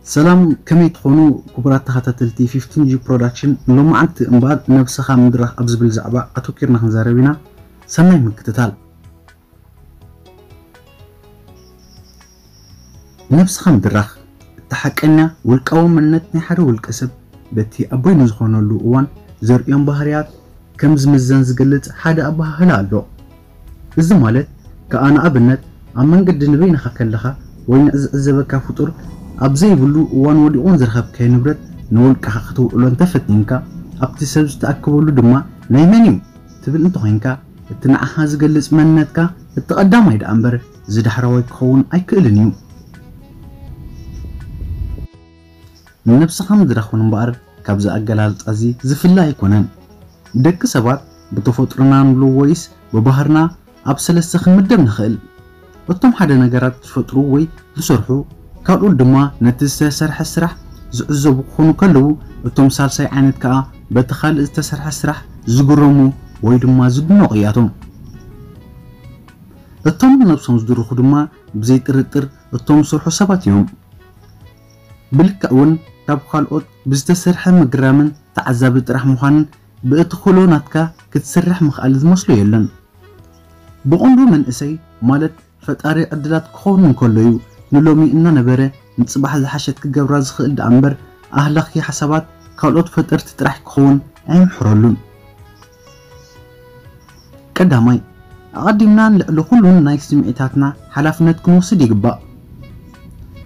ሰላም፣ ከመይ ትኾኑ ክቡራት ተኸታተልቲ ፊፍቲን ጂ ፕሮዳክሽን? ሎማዓንቲ እምበኣር ነብስኻ ምድራኽ ኣብ ዝብል ዛዕባ ኣተኪርና ክንዛረብ ኢና። ሰናይ ምክትታል። ነብስኻ ምድራኽ፣ እቲ ሓቀኛ ውልቃዊ መንነት ናይ ሓደ ውልቀ ሰብ በቲ ኣብ በይኑ ዝኾነሉ እዋን ዘርእዮም ባህርያት ከም ዝምዘን ዝገልጽ ሓደ ኣበሃህላ ኣሎ። እዚ ማለት ከኣ ንኣብነት ኣብ መንገዲ ንበይንኻ ከለኻ ወይ ንዝዕዘበካ ፍጡር ኣብ ዘይብሉ እዋን ወዲቑ ንዝረኸብካዮ ንብረት ንውልቅኻ ክትውዕሎ እንተፈቲንካ ኣብቲ ሰብ ዝተኣከበሉ ድማ ናይ መን እዩ ትብል እንተኾይንካ እቲ ንዓኻ ዝገልጽ መንነትካ እቲ ቀዳማይ ደኣ እምበር እዚ ዳሕራዋይ ክኸውን ኣይክእልን እዩ። ንነብስኻ ምድራኽ እውን እምበኣር ካብዚ ኣገላልጻ እዚ ዝፍለ ኣይኮነን። ደቂ ሰባት ብተፈጥሮና ንብሎ ወይስ ብባህርና ኣብ ሰለስተ ክንምደብ ንኽእል። እቶም ሓደ ነገራት ዝፈጥሩ ወይ ዝሰርሑ፣ ካልኦት ድማ ነቲ ዝተሰርሐ ስራሕ ዝዕዘቡ ክኾኑ ከለዉ፣ እቶም ሳልሳይ ዓይነት ከኣ በቲ ካልእ ዝተሰርሐ ስራሕ ዝግረሙ ወይ ድማ ዝድነቑ እያቶም። እቶም ነብሶም ዝድርኹ ድማ ብዘይ ጥርጥር እቶም ዝሰርሑ ሰባት እዮም። ብልክዕ እውን ካብ ካልኦት ብዝተሰርሐ ምግራምን ተዓዛቢ ጥራሕ ምዃንን ብእቲ ክእሎ ናትካ ክትሰርሕ ምኽኣል ዝመስሎ የለን። ብቐንዱ መንእሰይ ማለት ፈጣሪ ዕድላት ክኸውን እንከሎ እዩ ንሎሚ እናነበረ ንጽባሕ ዝሓሸት ክገብራ ዝኽእል ደኣ እምበር ኣህላኺ ሓሳባት ካልኦት ፈጠርቲ ጥራሕ ክኸውን ኣይምሕረሉን። ቀዳማይ፣ ኣቐዲምና ንልዕሊ ኩሉን ናይ ስምዒታትና ሓላፍነት ክንወስድ ይግባእ።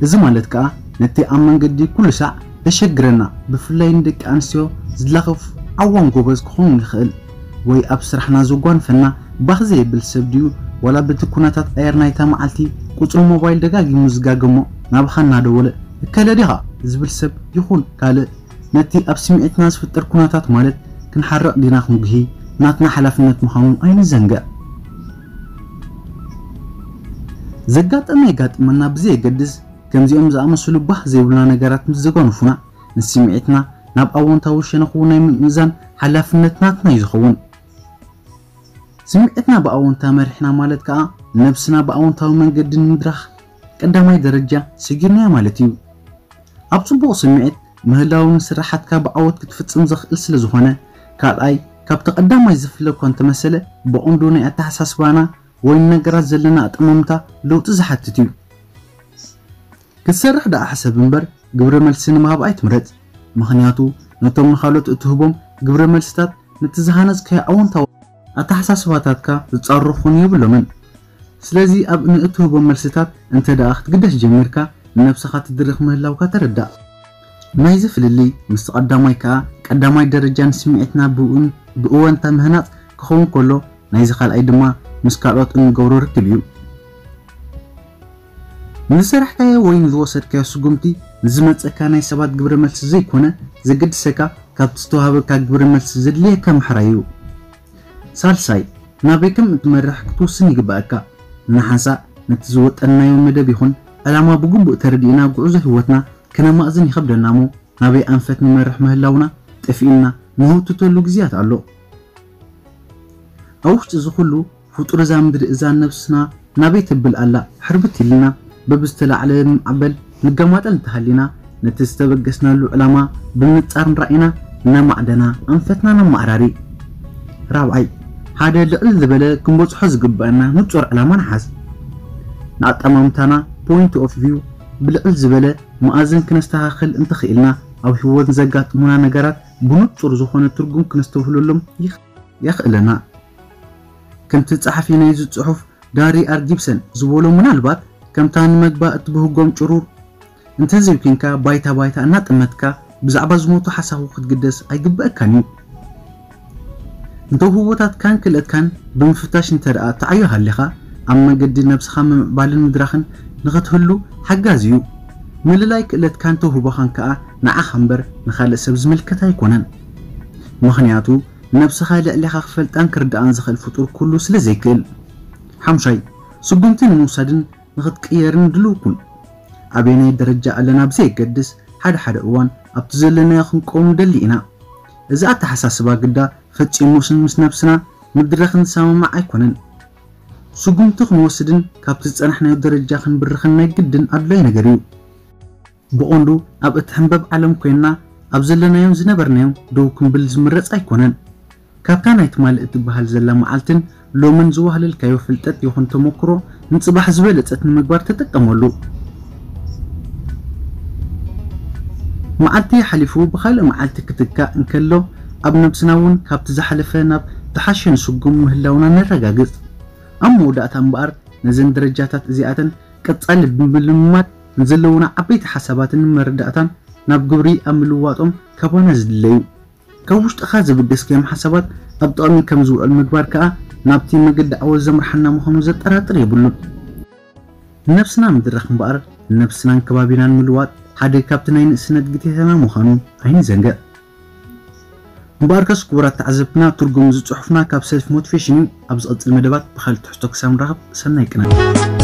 እዚ ማለት ከኣ ነቲ ኣብ መንገዲ ኩሉ ሳዕ ዘሸግረና፣ ብፍላይ ንደቂ ኣንስትዮ ዝላኸፍ ዓዋን ጎበዝ ክኸውን ይኽእል፣ ወይ ኣብ ስራሕና ዘጓንፈና ባህ ዘየብል ሰብ ድዩ፣ ዋላ በቲ ኩነታት ኣየር ናይታ መዓልቲ ቁጽሪ ሞባይል ደጋጊሙ ዝጋገሞ ናባኻ እናደወለ እከለ ዲኻ ዝብል ሰብ ይኹን ካልእ ነቲ ኣብ ስምዒትና ዝፍጠር ኩነታት ማለት ክንሓርቕ ዲና ክንጉሂ ናትና ሓላፍነት ምዃኑ ኣይንዘንግዕ። ዘጋጠመ የጋጥመና ብዘየገድስ ከምዚኦም ዝኣመሰሉ ባህ ዘይብሉና ነገራት ምስ ዘጓንፉና ንስምዒትና ናብ ኣወንታዊ ሸነኹ ናይ ምምእዛን ሓላፍነት ናትና እዩ ዝኸውን። ስምዒትና ብኣወንታ መሪሕና ማለት ከኣ ነብስና ብኣወንታዊ መንገዲ ንምድራኽ ቀዳማይ ደረጃ ሰጊርናያ ማለት እዩ። ኣብ ጽቡቕ ስምዒት ምህላው ንስራሓትካ ብዓወት ክትፍጽም ዘኽእል ስለ ዝኾነ፣ ካልኣይ ካብቲ ቀዳማይ ዝፍለ እኳ እንተመሰለ ብቐንዱ ናይ ኣተሓሳስባና ወይ ንነገራት ዘለና ኣጠማምታ ለውጢ ዝሓትት እዩ። ክትሰርሕ ደኣ ሕሰብ እምበር ግብረ መልሲ ንምሃብ ኣይትምረጽ። ምኽንያቱ ነቶም ንኻልኦት እትህቦም ግብረ መልስታት ነቲ ዝሃነጽካዮ ኣወንታዊ ኣተሓሳስባታትካ ዝጻረሩ ክኾኑ የብሎምን። ስለዚ ኣብ ንእትህቦም መልስታት እንተ ደኣ ክትግደስ ጀሚርካ ንነብስኻ ትድርኽ ምህላውካ ተረዳእ። ናይዚ ፍልልይ ምስቲ ቀዳማይ ከኣ ቀዳማይ ደረጃ ንስምዒትና ብእውን ብእወንታ ምህናጽ ክኸውን ከሎ ናይዚ ካልኣይ ድማ ምስ ካልኦት እንገብሮ ርክብ እዩ። ንዝሰራሕካዮ ወይ ንዝወሰድካዮ ስጉምቲ ንዝመጸካ ናይ ሰባት ግብረ መልሲ ዘይኮነ ዘገድሰካ ካብቲ ዝተዋህበካ ግብረ መልሲ ዘድልየካ ምሕራይ እዩ። ሳልሳይ ናበይ ከም እትመርሕ ክትውስን ይግበኣካ። ንሓንሳእ ነቲ ዝወጠንናዮ መደብ ይኹን ዕላማ ብግቡእ ተረዲእና ጉዕዞ ህይወትና ከነማእዝን ይኸብደና እሞ ናበይ ኣንፈት ንመርሕ ምህላውና ጠፊኡና ንህውትተሉ ግዜያት ኣሎ። ኣብ ውሽጢ እዚ ኩሉ ፍጡር እዛ ምድሪ እዛ ነብስና ናበይ ተብል ኣላ ሕርብት ኢልና በብዝተላዕለ ማዕበል ንገማጠል እንተሃሊና ነቲ ዝተበገስናሉ ዕላማ ብምንጻር ንራእይና እናማዕደና ኣንፈትና ነማዕራሪ። ራብዓይ ሓደ ልዕል ዝበለ ክንበጽሖ ዝግበኣና ንጹር ዕላማ ንሓዝ። ንኣጠማምታና point of view ብልዕል ዝበለ መኣዝን ክነስተኻኽል እንተኽኢልና ኣብ ህይወት ዘጋጥሙና ነገራት ብንጹር ዝኾነ ትርጉም ክነስተብህለሎም የኽእለና። ከምቲ ጸሓፊ ናይዚ ጽሑፍ ጋሪ ኣር ጊብሰን ዝበሎ ምናልባት ከምታ ንመግባ እትብህጎም ጭሩር እንተዘይኮንካ ባይታ ባይታ እናጠመትካ ብዛዕባ ዝሞቱ ሓሳኹ ክትግደስ ኣይግበኣካን እዩ። ንተውህቦታትካን ክእለትካን ብምፍታሽ እንተ ደኣ ተዓዮ ሃሊኻ ኣብ መገዲ ነብስኻ ምምዕባልን ምድራኽን ንኽትህሉ ሓጋዚ እዩ። ምልላይ ክእለትካን ተውህቦኻን ከኣ ንዓኻ እምበር ንኻልእ ሰብ ዝምልከት ኣይኮነን። ምኽንያቱ ነብስኻ ልዕሌኻ ክፈልጣን ክርድኣን ዝኽእል ፍጡር ኩሉ ስለ ዘይክእል። ሓምሻይ ስጉምቲ ንምውሳድን ንኽትቅየርን ድልው ኩን። ኣበየናይ ደረጃ ኣለና ብዘየገድስ ሓደ ሓደ እዋን ኣብቲ ዘለናዮ ክንቀውም ንደሊ ኢና። እዚ ኣተሓሳስባ ግዳ ፈጺሙስ ምስ ነብስና ምድራኽን ዝሰማማዕ ኣይኮነን። ስጉምቲ ክንወስድን ካብቲ ዝጸናሕናዮ ደረጃ ክንብርኽን ናይ ግድን ኣድላይ ነገር እዩ። ብቐንዱ ኣብ እትሕንበብ ዓለም ኮይንና ኣብ ዘለናዮን ዝነበርናዮን ደው ክንብል ዝምረጽ ኣይኮነን። ካብታ ናይ ትማሊ እትበሃል ዘላ መዓልትን ሎምን ዝዋህለልካዮ ፍልጠት ይኹን ተመክሮ ንጽባሕ ዝበለጸት ንምግባር ተጠቀመሉ። መዓልቲ ሓሊፉ ብኻልእ መዓልቲ ክትካእ እንከሎ ኣብ ነብስና እውን ካብቲ ዝሓለፈ ናብ ዝሓሸ ንስጉም ምህላውና ነረጋግጽ። ኣብ መወዳእታ እምበኣር ነዘን ደረጃታት እዚኣተን ቀጻሊ ብምልምማድ ንዘለዉና ዓበይቲ ሓሳባትን መረዳእታን ናብ ግብሪ ኣብ ምልዋጦም ካባና ዝድለዩ። ካብ ውሽጥኻ ዘበገስካዮም ሓሳባት ኣብ ጥቕሚ ከም ዝውዕል ምግባር ከኣ ናብቲ መገዲ ዓወት ዘምርሓና ምዃኑ ዘጠራጥር የብሉን። ንነብስና ምድራኽ እምበኣር ንነብስናን ከባቢናን ምልዋጥ ሓደ ካብቲ ናይ ንእስነት ግዴታና ምዃኑ ኣይንዘንግዕ። እምበኣርከስ ክቡራት ተዓዘብትና ትርጉም እዚ ጽሑፍና ካብ ሰልፍ ሞቲቬሽን እዩ። ኣብ ዝቕጽል መደባት ብኻልእ ትሕዝቶ ክሳብ ንራኸብ ሰናይ ቅነ።